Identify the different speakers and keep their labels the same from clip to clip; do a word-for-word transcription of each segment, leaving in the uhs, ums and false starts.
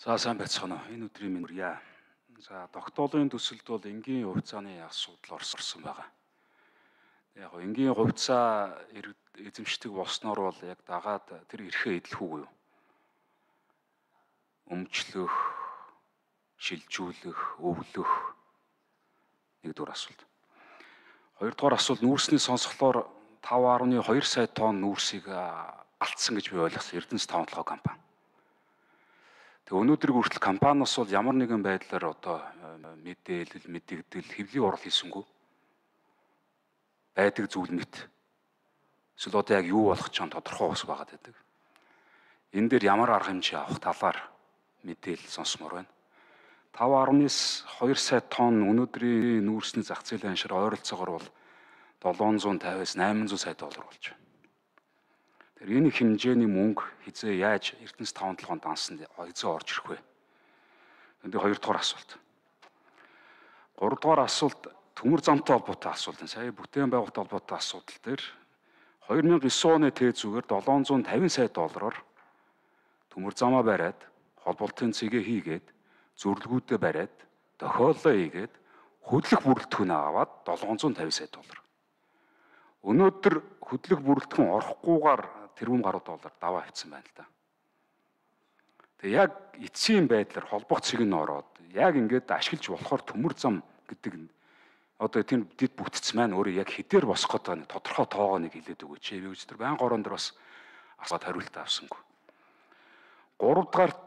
Speaker 1: За сайн байцгаана уу. Энэ өдрийн минь үрье. За тогтоолын төсөлд бол энгийн хувьцааны асуудал орсон байгаа. Яг гоо энгийн хувьцаа эзэмшдэг болсноор бол яг дагаад тэр эрхээ эдлэх үгүй юу? Өмчлөх, шилжүүлэх, өвлөх нэгдүгээр асуулт. Хоёрдугаар асуулт нүүрсний сонсголоор таван гаруй хоёр сая тонн нүүрсийг алдсан гэж би ойлгосон. Эрдэнэс таван толгой компани. Тэгээ өнөөдрийг хүртэл компаниас бол ямар нэгэн байдлаар одоо мэдээлэл, мэдэгдэл, хэвлэлийн урал хийсэнгүү байдаг зүйл мэт. Эсвэл одоо яг юу болох ч юм тодорхой ус байгаад байдаг. Энэ дээр ямар арга хэмжээ авах талаар мэдээлэл сонсомоор байна. таван гаруй хоёр сая тонн өнөөдрийн нүүрсний зах зээлийн аншир ойролцоогоор бол долоон зуун тавиас найман зуун сая доллар болж байна. Тэр энэ хэмжээний мөнгө хизээ яаж Эрдэнэс таван толгойн дансанд эзэн орж ирэх вэ? Энд хоёр дахь асуулт. Гурав дахь асуулт төмөр замтай холбоотой асуулт. Сая бүтээн байгуулалттай холбоотой асуудал дээр хоёр мянган девять оны тээ зүгээр долоон зуун тавин сая доллараар төмөр замаа бариад, холболтын цэгээ хийгээд, зөвлөгөөдөө бариад, тохиоллоо хийгээд, хөдлөх бүрэлдэхүүн аваад долоон зуун тавин сая доллар. Өнөөдөр хөдлөх бүрэлдэхүүн орохгүйгээр тэрбум гаруй доллар даваа авчихсан байна л да. Тэгээ яг эцсийн байдлаар холбох цэг нь ороод яг ингээд ашиглаж болохоор төмөр зам гэдэг одоо тийм дэд бүтц маань өөрөө яг хэдээр босох гэдэг нэг тодорхой тоогоо нэг хэлээд өгөөч. Би өчтөр байнга ороон дээр бас асууад хариулт авсангүй. Гурав дахь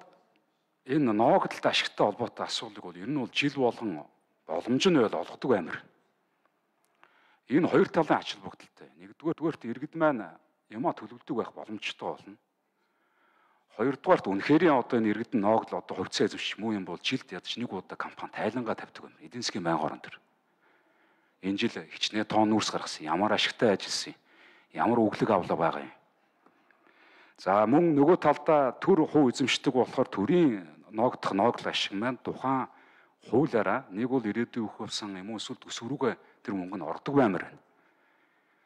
Speaker 1: энэ ноогдолт ашигтай холбоотой асуудлыг бол ер нь бол жил болгон боломж нь бол олгодог амир. Энэ хоёр талын ач холбогдолтой. Нэгдүгээр дүгээрт иргэд маань юмаа төлөвлөдөг байх боломжтой болно. Хоёрдугаарт үнэхээр одоо энэ иргэд нь ноогдол одоо хувьцаа эзэмших муу юм бол жилд ядаж нэг удаа компани тайлангаа тавьдаг юм. Эдийн засгийн байнгын орон төр. Энэ жил хичнээн тоон нүүрс гаргасан. Ямар ашигтай ажилласан юм. Ямар өглөг авлага байгаа юм. За мөн нөгөө талдаа төр хуу эзэмшдэг болохоор төрийн ноогдох ноогдол ашиг маань тухайн хуулиараа нэг бол ирээдүйн өөх болсон юм уу эсвэл төсвөрүүгээ тэр мөнгө нь ордог баймаар байна.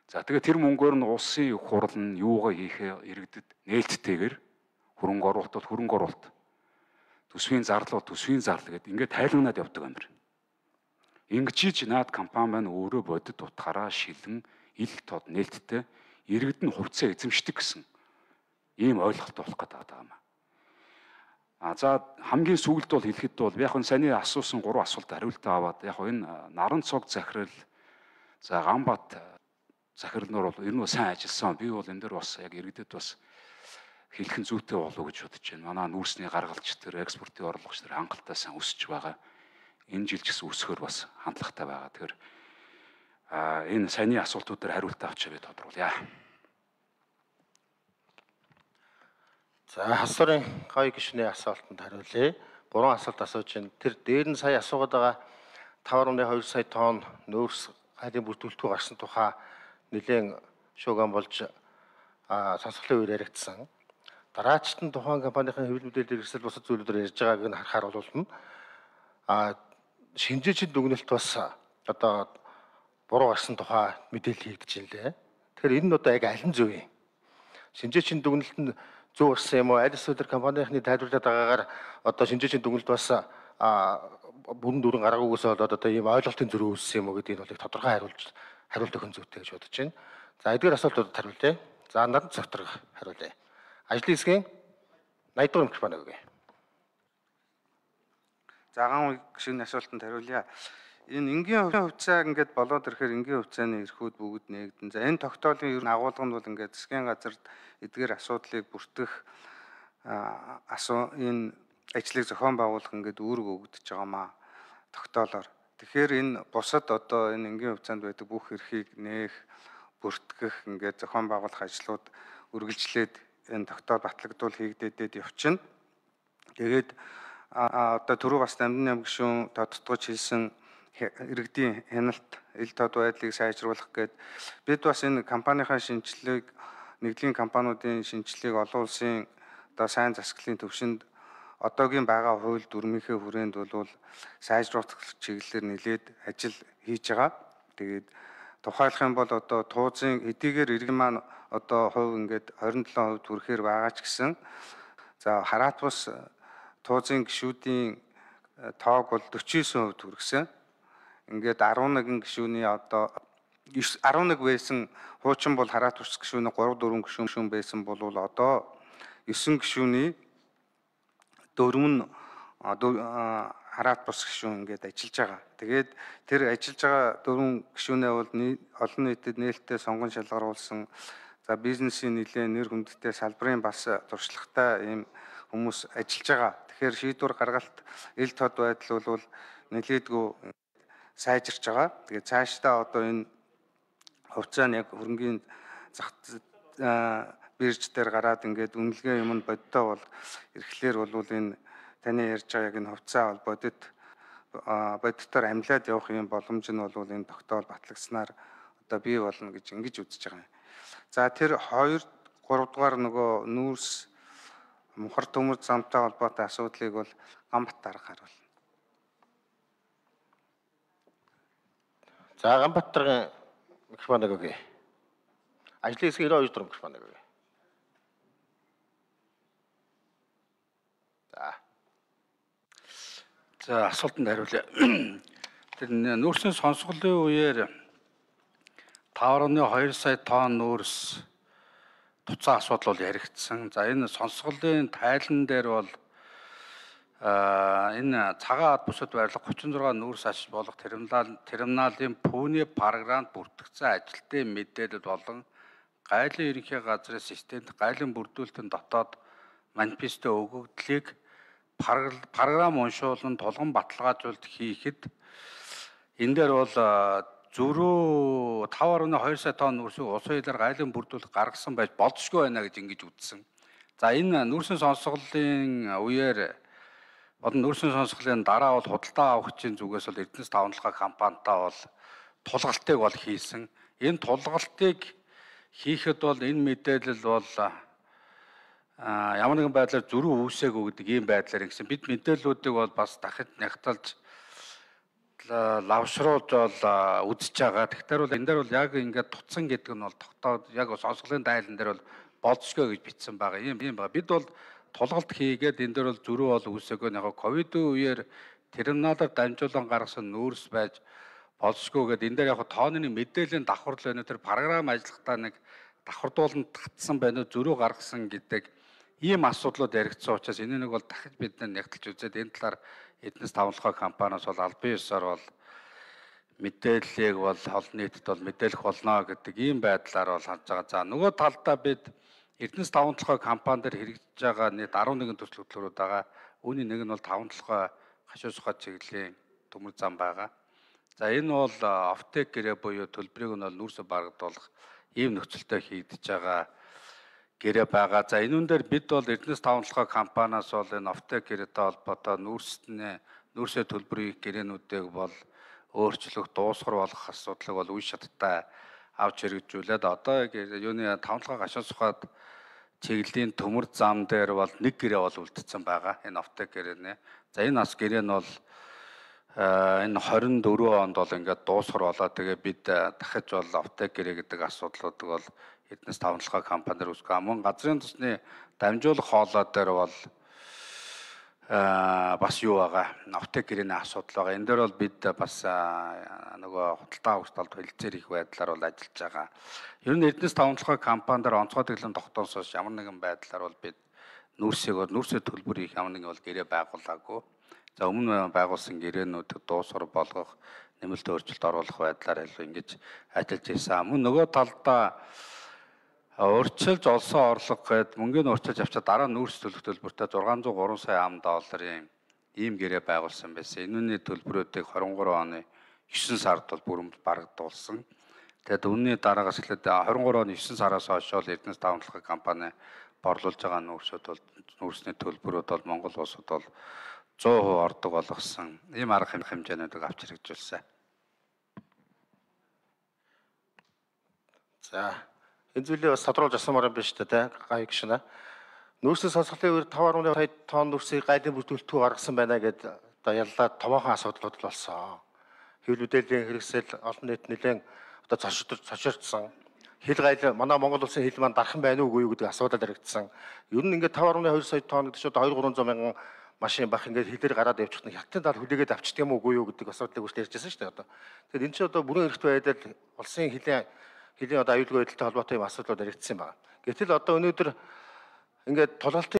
Speaker 1: За тэгээ тэр мөнгөөр нь улсын их хурал нь юугаа хийхээ иргэдэд нээлттэйгээр хөрөнгө оруулалт бол хөрөнгө оруулалт, төсвийн зарлал төсвийн зарлал гэдэг ингээд тайлгнаад явдаг юм байна. Ингэж наад компани маань өөрөө бодит утгаараа шилэн ил тод нээлттэй иргэд нь хувьцаа эзэмшдэг гэсэн ийм ойлголт болох гэдэг юм. А за хамгийн сүүлд бол хэлэхэд бол яг нь саний асуусан гурван асуулт хариултаа аваад яг энэ наран цог захирал за Ганбат захирлноор бол ер нь сайн ажилласан. Би бол энэ дээр бас яг иргэдэд бас хэлэх нь зүйтэй болов уу гэж бодож байна. Манай нүүрсний гаргалч тэр экспортын орлогч тэр хангалттай сайн өсөж байгаа. Энэ жил ч гэсэн өсөхөр бас хандлагатай байгаа. Тэгэхээр а энэ саний асуултууд дээр хариултаа авчаа би тодруулъя.
Speaker 2: За хасрын гоё гишүүний асуултанд хариулъя. Гурван асуулт асууж байна. Тэр дээр нь сая асуугаад байгаа таван гаруй хоёр сая тонн нөөц хайлын бүртгүүлэлтгүй гарсан тухай нэлээд шууган болж сонсголын үеэр яригдсан. Дараачд нь тухайн компанийн хэвлэл мэдээлэл хэрэгсэл бусад зүйлүүдээр ярьж байгааг нь харахаар бол а шинжээчийн дүгнэлт бас одоо буруу гарсан тухай мэдээлэл хийгдэж байна лээ. Тэгэхээр энэ нь одоо яг аль нь зөв юм? Шинжээчийн дүгнэлт нь зөв гарсан юм уу? Аль эсвэл тэр компанийн тайлбарлаад байгаагаар одоо шинжээчийн дүгнэлт бас а бүрэн дүрэн гараагүйгээс болоод одоо ийм ойлголтын зөрүү үүссэн юм уу гэдгийг бол тодорхой хариулж хариулт өгөх зүйтэй гэж бодож байна. За эдгээр асуултуудад хариулъя. За надад зөвхөн хариулъя. Ажлын хэсгийн найдвар хэмжих байна үгүй.
Speaker 3: Заган гишүүний асуултанд хариулъя. Энэ энгийн хувьцаа ингээд болоод ирэхээр энгийн хувьцааны эрхүүд бүгд нэгдэн. За энэ тогтоолын ер нь агуулга нь бол ингээд засгийн газарт эдгээр асуудлыг бүртгэх асуу энэ ажлыг зохион байгуулах ингээд үүрэг өгдөж байгаамаа тогтоолоор. Тэгэхээр энэ бусад одоо энэ энгийн хувьцаанд байдаг бүх эрхийг нээх, бүртгэх ингээд зохион байгуулах ажлууд үргэлжлээд энэ тогтоол батлагдвал хийгдээд явчихна. Тэгээд одоо түрүү бас Дамжин аймаг гишүүн тодтогч хэлсэн иргэдийн хяналт, ил тод байдлыг сайжруулах гээд бид бас энэ компанийнхаа шинжилгээг нэгдлийн компаниудын шинжилгээг олон улсын одоо сайн засаглалын төвшөнд одоогийн байгаа хууль дүрмийнхээ хүрээнд бол сайжруулах чиглэлээр нэлээд ажил хийж байгаа. Тэгээд тухайлах юм бол одоо туузын эдийгээр иргэн маань одоо хувь ингээд двадцать seven хувь хүрэхээр байгаа ч гэсэн за хараат бус туузын гишүүдийн тоог бол forty-nine percent хүргэсэн. Ингээд eleven гишүүний одоо eleven байсан хуучин бол хараат ус гишүүний three four гишүүн байсан бол одоо nine гишүүний дөрөв нь хараат бус гишүүн ингээд ажиллаж байгаа. Тэгээд тэр ажиллаж байгаа дөрвөн гишүүнээ бол олон нийтэд нээлттэй сонгон шалгаруулсан. За бизнесийн нэлээд нэр хүндтэй салбарын бас туршлагатай ийм хүмүүс ажиллаж байгаа. Тэгэхээр шийдвэр гаргалт ил тод байдал бол нэлээдгүй сайжирч байгаа. Тэгээд цаашдаа одоо энэ хувьцаа нь яг хөрөнгийн зах бирж дээр гараад ингээд үнэлгээ юм бодтой бол эрхлээр бол энэ таны ярьж байгаа яг энэ хувьцаа бол бодит бодитоор амлаад явах юм боломж нь бол энэ тогтоол батлагснаар одоо бий болно гэж ингэж үзэж байгаа юм. За тэр two three дугаар нөгөө нүүрс мухар төмөр замтай холбоотой асуудлыг бол Ганбат дарга харуулна.
Speaker 2: За Ганбат даргын микрофоныг өгье. Ажлын хэсгийн ninety-two дугаар микрофоныг өгье. За.
Speaker 4: За асуултанд хариулъя. Тэр нүүрсийн сонсголын үеэр five point two сая тонн нүүрс туцаа асуудал бол яригдсан. За энэ сонсголын тайлан дээр бол энэ цагаан ад бүсэд байрлах thirty-six нүүрс аж болох терминал терминалын пүүний програмд бүртгэгдсэн ажилтны мэдээлэл болон гайлын ерөнхий газрын системд гайлын бүрдүүлэлтийн дотоод манифесто өгөгдлийг програм уншуулан тулгын баталгаажуулалт хийхэд энэ дээр бол зөрүү five point two сая тонн нүүрсийг усан хилээр гайлын бүрдүүлэлт гаргасан байж болзошгүй байна гэж ингэж үзсэн. За энэ нүүрсийн сонсголын үеэр болон нүүрсийн сонсголын дараа бол худалдаа авахчийн зүгээс бол Эрдэнэс тавталгаа компанитай бол тулгалтыг бол хийсэн. Энэ тулгалтыг хийхэд бол энэ мэдээлэл бол ямар нэгэн байдлаар зөрүү үүсээгүй гэдэг ийм байдлаар гэсэн. Бид мэдээллүүдийг бол бас дахид нягтлж лавшруулж бол үзэж байгаа. Тэгэхээр бол энэ дээр бол яг ингээд туцсан гэдэг нь бол тогтоод яг сонсголын дайлан дээр бол болзошгүй гэж бичсэн байгаа. Ийм юм байна. Бид бол тулгалт хийгээд энэ дээр бол зөрүү бол үүсээгүй. Яг ковидын үеэр терминалаар дамжуулан гаргасан нүүрс байж болзошгүй гэдэг. Энэ дээр яг тооны мэдээллийн давхарлал байна. Тэр програм ажиллахдаа нэг давхардууланд татсан байна. Зөрүү гаргасан гэдэг ийм асуудлууд яригдсан учраас энэ нэг бол дахиж бид нягтлж үзээд энэ талаар Эрдэнэс тавталгаа компаниас бол албан ёсоор бол мэдээллийг бол олон нийтэд бол мэдээлэх болно гэдэг ийм байдлаар бол хандж байгаа. За нөгөө талдаа бид Эрдэнэс тавталгаа компани дээр хэрэгжиж байгаа нийт eleven төсөл хөтөлбөрүүд байгаа. Үүний нэг нь бол тавталгаа хашуу сухад чиглэлийн төмөр зам байгаа. За энэ бол офтек гэрээ буюу төлбөрийг нь бол нүүрсө барагдуулах ийм нөхцөлтэй хийгдэж байгаа гэрээ байгаа. За энүүн дээр бид бол Эрдэнэс тавталгаа компаниас бол энэ офтек гэрээтэй холбоотой нүүрсний нүүрсээ төлбөрийн гэрээнүүдийг бол өөрчлөх, дуусгар болох асуудлыг бол үе шаттай авч хэрэгжүүлээд одоо юуны тавталгаа гашуун сухад чиглэлийн төмөр зам дээр бол нэг гэрээ бол үлдсэн байгаа. Энэ офтек гэрээ. За энэ бас гэрээ нь бол энэ twenty-four онд бол ингээд дуусгар болоо. Тэгээ бид дахиж бол офтек гэрээ гэдэг асуудлуудыг бол Эрдэнэс тавталгаа компаниар үүсгэх. Мөн газрын тосны дамжуулах хоолой дээр бол бас юу байгаа. Офтек гэрээний асуудал байгаа. Энэ дээр бол бид бас нөгөө худалдаа авах талд хэлэлцээр их байдлаар бол ажиллаж байгаа. Ер нь Эрдэнэс тавталгаа компаниар онцгой тэглэн тогтоосоос ямар нэгэн байдлаар бол бид нүүрсийг бол нүүрсээ төлбөр их ямар нэгэн бол гэрээ байгуулаагүй. За өмнө байгуулсан гэрээнүүдийг дуусгар болгох, нэмэлт өөрчлөлт оруулах байдлаар ингэж ажиллаж ирсэн. Мөн нөгөө талдаа урьдчилж олсон орлого гээд мөнгөний урьдчилж авчаа дараа нүүрс төлөх төлбөртэй six hundred three сая ам долларын ийм гэрээ байгуулсан байсан. Энүүний төлбөрүүдийг twenty-three оны nine сард бол бүрэн барагдуулсан. Тэгээд үнний дараагаас эхлээд twenty-three оны nine сараас хойш бол Эрдэнэс тавталгаа компани борлуулж байгаа нүүрсүүд бол нүүрсний төлбөрүүд бол Монгол улсад бол one hundred percent ордог болгосон. Ийм арга хэмжээнүүдийг авч хэрэгжүүлсэн.
Speaker 2: За энэ зүйлээ бас тодруулж асуумаар юм байна шүү дээ, гай гişнэ. Нүүрсийн сонсголын үеэр five point two сая тонн нүүрсийг гайлын бүрдүүлэлтгүй гаргасан байна гэдээ одоо яллаа томоохон асуудлууд болсон. Хэвлэл мэдээллийн хэрэгсэл олон нийт нэлээд одоо цочрч цочрчсан. Хил гайл манай Монгол улсын хил маань дархан байна уугүй юу гэдэг асуудал яригдсан. Ер нь ингээд five point two сая тонн гэдэг чинь одоо two hundred three hundred мянган машин бах ингээд хилээр гараад явчих нь хятадын тал хүлээгээд авчдаг юм уугүй юу гэдэг асуудлыг үргэлж ярьжсэн шүү дээ одоо. Тэгэхээр энэ чинь одоо бүрэн эрхтэй байдал улсын хилийн хилийн одоо аюулгүй байдалтай холбоотой юм асуудлууд яригдсан байна. Гэтэл одоо өнөөдөр ингээд тулгалтын